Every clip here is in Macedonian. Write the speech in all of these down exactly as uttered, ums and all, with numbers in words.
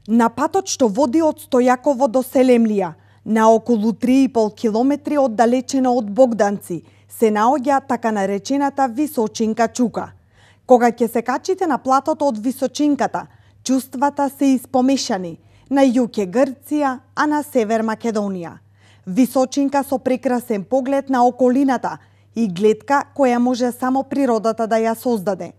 На патот што води од Стојаково до Селемлија, на околу три и пол километри оддалечено од Богданци, се наоѓа така наречената Височинка чука. Кога ќе се качите на платото од Височинката, чувствата се испомешани. На југ е Грција, а на север Македонија. Височинка со прекрасен поглед на околината и гледка која може само природата да ја создаде.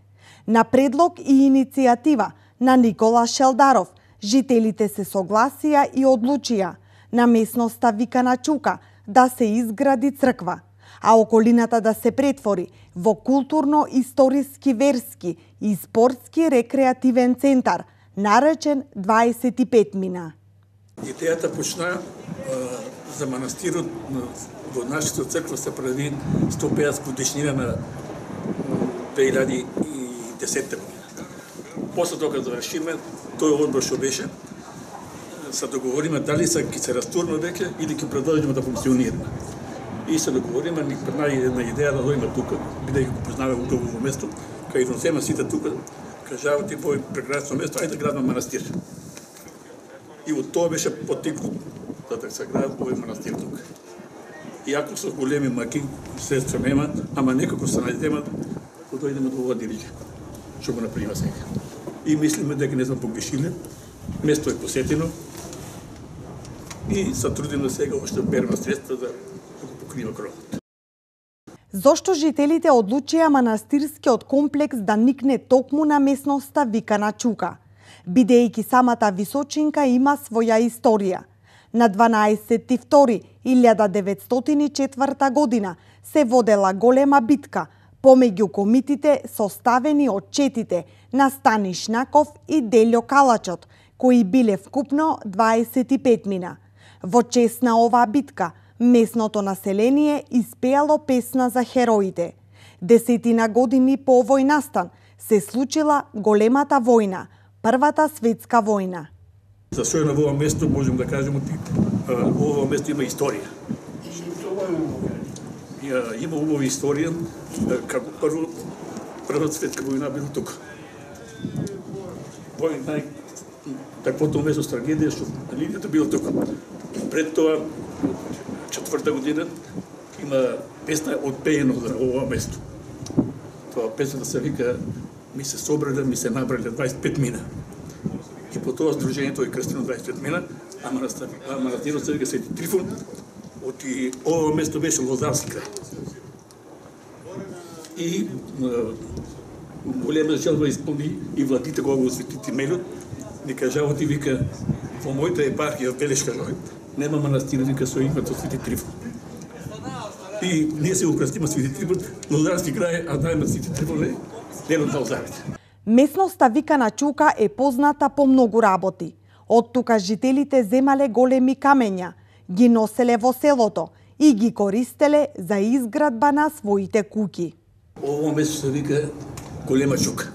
На предлог и иницијатива на Никола Шелдаров, жителите се согласија и одлучија на местноста викана Чука да се изгради црква, а околината да се претвори во културно-историски, верски и спортски рекреативен центар, наречен дваесет и пет мина. Идејата почна а, за манастирот во нашата црква се прави сто и педесет годишнина на две илјади и десетта година. После тоа кога завршиме, тој одбор што беше, се договориме дали се ќе се растурне веќе или ќе продолжиме да функционираме. И се договориме, ни пренајде една идеја да дојдеме тука, бидејќи го познаваме убаво во место, кај износеме сите тука, кажава ти во прекрасно место, ајде да градиме манастир. И од тоа беше поттикнат да се гради овој манастир тука. Иако со големи маки, средства нема, ама некако се најдеме да дојдеме до ова дирижа, што го направиме сега. И мислиме дека не сме погрешиле, место е посетено и се трудиме сега уште да береме средства за да го покриеме кровот. Зошто жителите одлучија манастирскиот комплекс да никне токму на местноста викана Чука? Бидејќи самата Височинка има своја историја. На дванаесети втори илјада деветстотини и четврта година се водела голема битка помеѓу комитите составени од четите на Стани Шнаков и Делјо Калачот, кои биле вкупно дваесет и пет мина. Во чест на оваа битка, местното население испеало песна за хероите. Десетина години по овој настан се случила големата војна, Првата светска војна. За што е на ова место можем да кажеме ти, ова место има историја. Има убава историја како прво Првата светска војна била тука. Вој нај таквото место с трагедија што линијата била тука. Пред тоа четврта година има песна одпеено за ова место. Тоа песната се вика ми се собрале, ми се набрале дваесет и пет мина. И по тоа сдружението е крстено дваесет и пет мина, а манастирот се вика Свети Трифун, од ова место беше Лозарски крај. И голема желба исполни и владите кога го освети Тимелот, ни кажава ти вика во мојата епархија Белешка Жој, нема манастир вика со името Свети Трифун. И ние се го крстиме Свети Трифун, Лозарски крај, а најма Свети Трифун е делот на Лозарите. Местноста викана Чука е позната по многу работи. Од тука жителите земале големи камења, ги носеле во селото и ги користеле за изградба на своите куќи. Ово место се вика Голема Чука.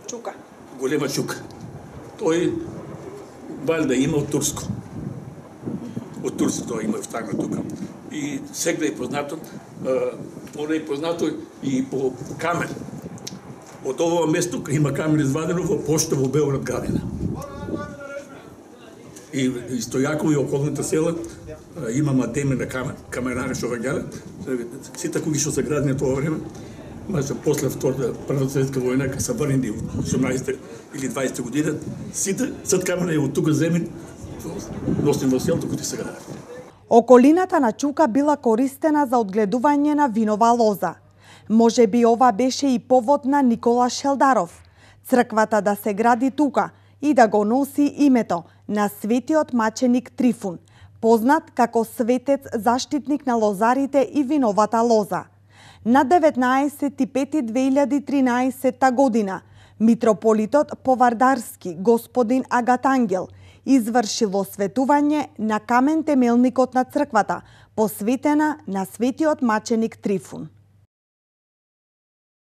Чука. Голема Чука. Тој валјда има од турско. Од турско тоа има втагна тука. И сега е познато, оно е познато и по камен. Од ова место има камен извадено во пошта во Белград градина. И Стојаково и околните села има мадеме на камен, каменари што ваѓале. Сите куќи што се градени тоа време, маже после втората Првата светска војна, кога се врнени во осумнаесетта или дваесетта година, сите сад камена е од тука земен, носени во селото кои се градат. Околината на Чука била користена за одгледување на винова лоза. Може би ова беше и повод на Никола Шелдаров, црквата да се гради тука и да го носи името на светиот маченик Трифун, познат како светец заштитник на лозарите и виновата лоза. На деветнаесети и пети две илјади и тринаесетта година митрополитот Повардарски господин Агатангел извршил осветување на камен темелникот на црквата, посветена на светиот маченик Трифун.